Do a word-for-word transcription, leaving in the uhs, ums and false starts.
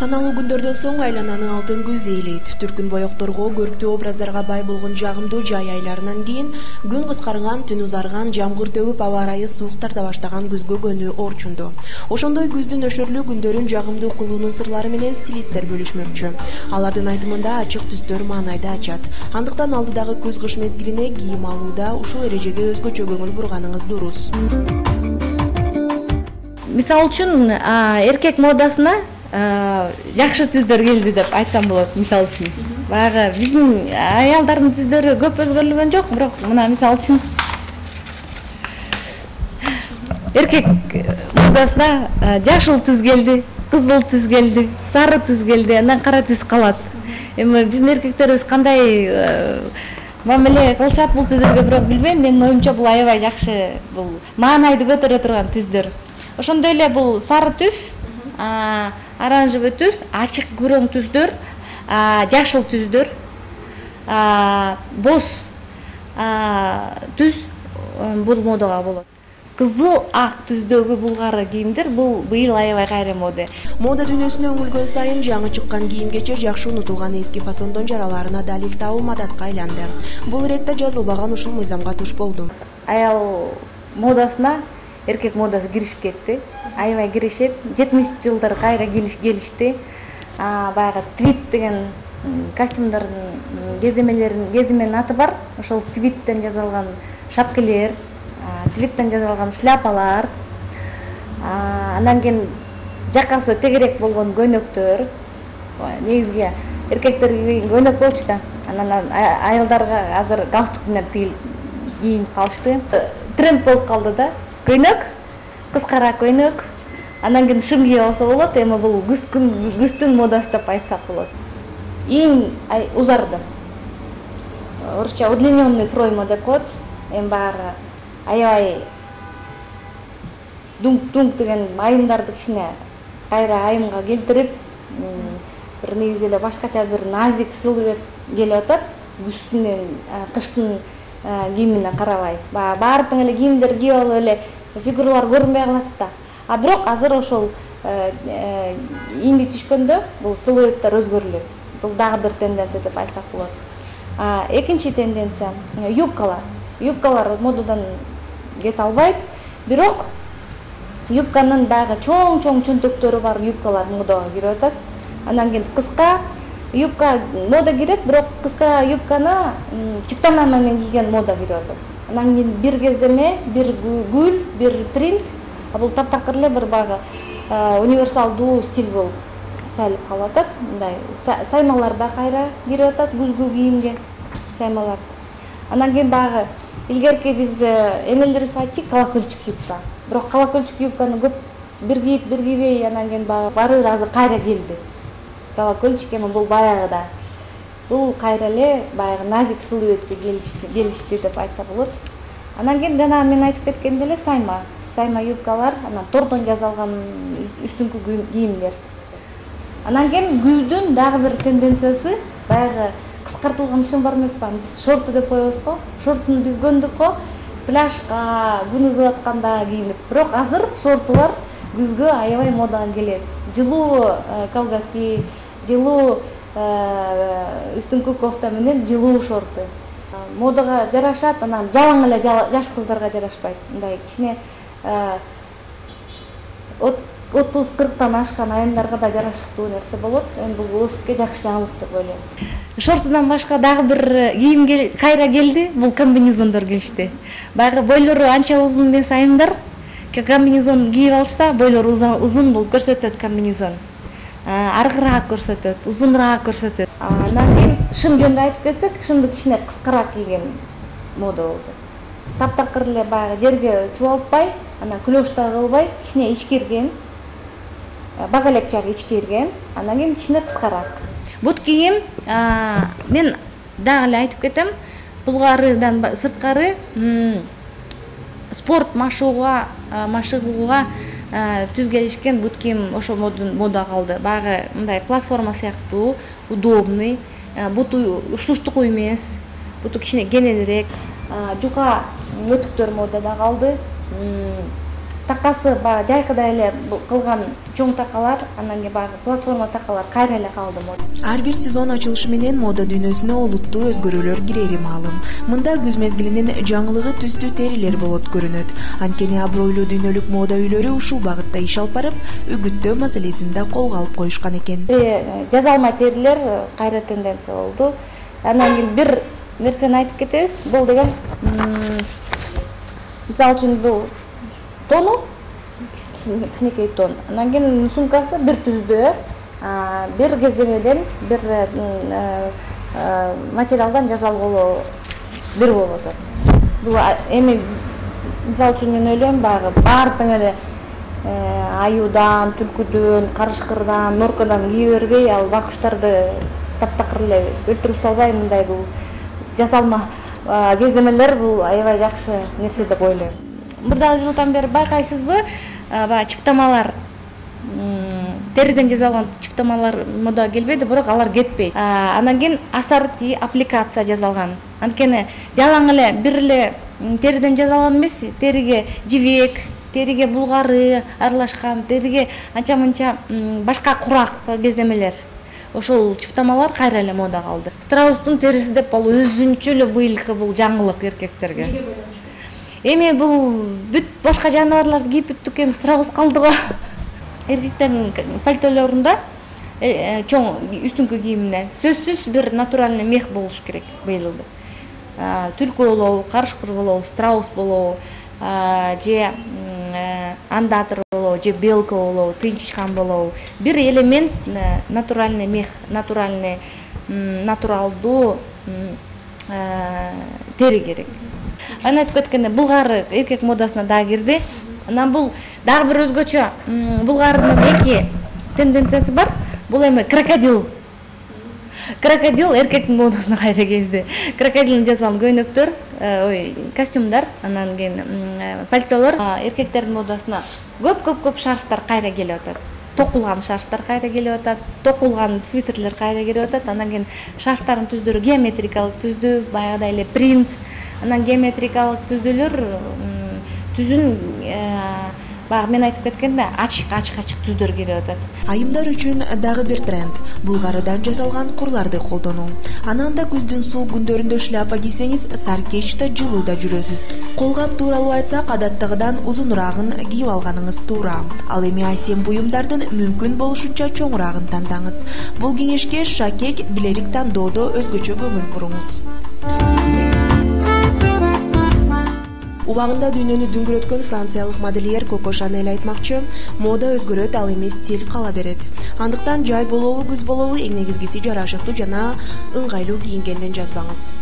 Саналуу күндөрдөн соң айлананы алтын күз ээлейт. Түркүн боекторго, көрктүү образдарга бай болгон жагымдуу жай айларынан кийин күн кыскарган, түн узарган, жамгыр төгүп, аба ырайы суук тарта баштаган күзгө көнүү орчунду. Ошондой күздүн өшөрлүү күндөрүн жагымдуу кылуунун сырлары менен стилисттер бөлүшмөкчү. Алардын айтымында ачык түстөр маанайды ачат. Андыктан алдыдагы күз-кыш мезгилине кийим алууда ушул эрежеге өзгөчө көңүл бурганыңыз дурус. Мисалы үчүн, эркек модасына жакшы түздөр келди деп айтсам болот. Мисалы үчүн, баягы биздин аялдардын түздөрү көп өзгөрүлгөн жок, бирок мына мисалы үчүн эркек модасына жашыл түз келди, кызыл түз келди, сары түз келди, андан кара түз калат. Эми биздин эркектерибиз кандай мамиле кылышат бул түздөргө бирок билбейм, менин оюмча бул аябай жакшы, бул маанайды көтөрө турган түздөр. Ошондой эле бул сары түз, оранжевый түз, ачык күрөң түздөр, жашыл түздөр, боз түз бул модага болот. Кызыл, ак түздөгү булгары кийимдер бул быйыл аябай кайра мода. Мода дүйнөсүнө үңүлгөн сайын жаңы чыккан кийим-кечек жакшы унутулган эски фасондон жараларына далил табуу мадатка айланды. Бул иретте жазылбаган ушул мыйзамга туш болду. Аял модасына эркек модасы киришип кетти. Аябай киришет. жетимиш жылдар кайра келишти. Баягы твит деген костюмдардын кеземелерин, кеземенин аты бар. Ошол твиттен жасалган шапкелер, твиттен жасалган шляпалар, андан кийин жакасы тегерек болгон көйнөктөр. Негизги эркектер кийген көйнөк болчу да. Анан аялдарга азыр галстук менен кийинип калышты. Тренд болуп калды да. Көйнөк, кыскара көйнөк, андан кийин шым кийип алса болот. Эми бул күздүн модасы деп айтсак болот. Эң узарды. Орусча удлинённый пройма деп коет. Эми баягы аябай дунк-дунк деген айымдарды кичине кайра айымга келтирип, бир негизи эле башкача бир назик силуэт келип атат. Күздүн, кыштын кийимине карабай. Баардык эле кийимдер кийип алып эле фигуралар көрүнбөй калат да. А бирок азыр ошол ийинди түшкөндө бул силуэттер өзгөрүлөт. Бул дагы бир тенденция деп айтсак болот. Экинчи тенденция юбкалар. Юбкалар модадан кете албайт. Бирок юбканын баягы чоң-чоң чөнтөктөрү бар юбкалар модага кирип атат. Андан кийин кыска юбка мода кирет, бирок кыска юбканы чыптана менен кийген мода кирип атат. Андан кийин бир кездеме, бир гүл, бир принт, а бул таптакыр эле бир баягы универсалдуу стиль болуп сайылып калып атат. Мындай саймалар да кайра кирип атат, күзгү кийимге саймалар. Андан кийин баягы илгерки биз энелерибиз айтчу колокольчик юбка. Бирок колокольчик юбканы көп бир кийип, бир кийбей, андан кийин баягы баары бир азыр кайра келди. Колокольчик эми бул баягыда. Бул кайра эле баягы назик силуэтке келишти деп айтса болот. Андан кийин жана мен айтып кеткендей эле сайма, сайма юбкалар, анан тордон жасалган үстүңкү кийимдер. Андан кийин күздүн дагы бир тенденциясы баягы кыскартылган шым бар эмеспи? Биз шорты деп коебуз го. Шортуну биз көндүк го. Пляжга, күн ызып атканда кийинип. Бирок азыр шортулар күзгө аябай модага келет. Жылуу колготки, жылуу үстүңкү кофта менен жылуу шорты. Модага жарашат, анан жалаң эле жаш кыздарга жарашпайт. Мындай кичине отуз кырктан ашкан айымдарга да жарашыктуу нерсе болот. Эми бул офиске жакшы жаңылык деп ойлойм. Шортунан башка дагы бир кийим кайра келди, бул комбинезондор келишти. Баягы бойлору анча узун эмес айымдар комбинезон кийип алышса, бойлору узун бул көрсөтөт комбинезон. Аргыраак көрсөтөт, узунураак көрсөтөт. Андан кийин шым жөнүндө айтып кетсек, шымды кичине кыскараак кийген мода болду. Таптакыр эле баягы жерге чубалтпай, анан клеш да кылбай, кичине ичкирген, бага элекчак ичкирген, андан кийин кичине кыскараак. Бут кийим мен дагы эле айтып кетем, булгарыдан сырткары спорт машыгууга, машыгууга түз келишкен бут кийим ошо мода калды. Баягы мындай платформа сыяктуу, удобный, буту уштуштук эмес, буту кичине кененирээк, жука өтүктөр модада калды. такасы баягы жайкыдай эле кылган чоң такалар, анан кийин баягы платформа такалар кайра эле калды мода. Ар бир сезон ачылышы менен мода дүйнөсүнө олуттуу өзгөрүүлөр кирери маалым. Мында күз мезгилинин жаңылыгы түстүү терилер болот көрүнөт. Анткени абройлуу дүйнөлүк мода үйлөрү ушул багытта иш алып барып, үгүттөө маселесин да колго алып коюшкан экен. Жазалма терилер кайра тенденция болду. Анан кийин бир нерсени айтып кетебиз. Бул деген мисалы үчүн бул тону, кичинекей тон. Анан кийин сумкасы бир түздүү, бир кездемеден, бир материалдан жасалган бир болуп атат. Бул эми мисалы үчүн мен ойлойм, баягы баары тең эле аюудан, түлкүдөн, карышкырдан, норкадан кие бербей, ал бакуштарды таптакыр эле өлтүрүп салбай, мындай бул жасалма кездемелер бул аябай жакшы нерсе деп ойлойм. Бир дагы жылдан бери байкайсызбы, баягы чыптамалар, териден жасалган чыптамалар модага келбейди, бирок алар кетпейт. Анан кийин ассорти аппликация жасалган. Анткени жалаң эле бир эле териден жасалган эмес, териге жибек, териге булгары аралашкан, териге анча-мынча башка курак кездемелер. Ошол чыптамалар кайра эле мода калды. Страустун териси деп ал өзүнчө эле быйылкы бул жаңылык эркектерге. Эми бул бүт башка жаныбарларды кийип бүттүк, эми страус калды го. Эркектердин пальтолорунда чоң үстүңкү кийимине сөзсүз бир натуральный мех болуш керек быйылды. Түлкү болобу, карышкыр болобу, страус болобу, же андатор болобу, же белка болобу, тынчышкан болобу. Бир элемент натуральный мех, натуральный натуралдуу тери керек. Анан айтып кеткенде булгары эркек модасына дагы кирди. Анан бул дагы бир өзгөчө, булгарынын эки тенденциясы бар. Бул эми крокодил. Крокодил эркектин модасына кайра келди. Крокодилден жасалган көйнөктөр, ой, костюмдар, анан кийин пальтолор эркектердин модасына көп-көп-көп шарфтар кайра келип атат. Токулган шарфтар кайра келип атат, токулган свитерлер кайра келип атат. Анан кийин шарфтардын түздөрү геометрикалык түздүү, баягыдай эле принт. Анан геометрикалык түздүүлөр түзүн баягы мен айтып кеткенде ачык ачык ачык түздөр келип атат. Айымдар үчүн дагы бир тренд — булгарыдан жасалган курларды колдонуу. Анан да күздүн суук күндөрүндө шляпа кийсеңиз, саркечта жылууда жүрөсүз. Колгап тууралуу айтсак, адаттагыдан узунураагын кийип алганыңыз туура. Ал эми айсем буюмдардын мүмкүн болушунча чоңураагын тандаңыз. Бул кеңешке шакек, билерик тандоодо өзгөчө көңүл буруңуз. Убагында дүйнөнү дүңгүрөткөн франциялык модельер Коко Шанель айтмакчы, мода өзгөрөт, ал эми стиль кала берет. Андыктан жай болобу, күз болобу, эң негизгиси жарашыктуу жана ыңгайлуу кийингенден жазбаңыз.